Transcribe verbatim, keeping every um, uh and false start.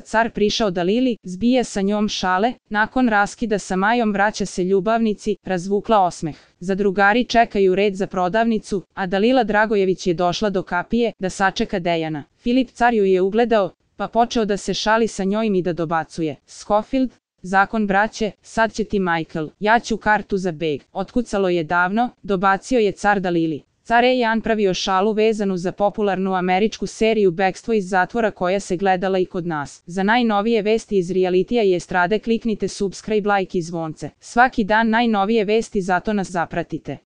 car prišao Dalili, zbija sa njom šale, nakon raskida sa Majom vraća se ljubavnici, razvukla osmeh. Zadrugari čekaju red za prodavnicu, a Dalila Dragojević je došla do kapije da sačeka Dejana. Filip car ju je ugledao, pa počeo da se šali sa njojim i da dobacuje. Scofield, zakon braće, sad će ti Michael, ja ću kartu za beg. Otkucalo je davno, dobacio je car Dalili. Car je Jan pravio šalu vezanu za popularnu američku seriju Bekstvo iz zatvora koja se gledala i kod nas. Za najnovije vesti iz realitija i estrade kliknite subscribe, like i zvonce. Svaki dan najnovije vesti, zato nas zapratite.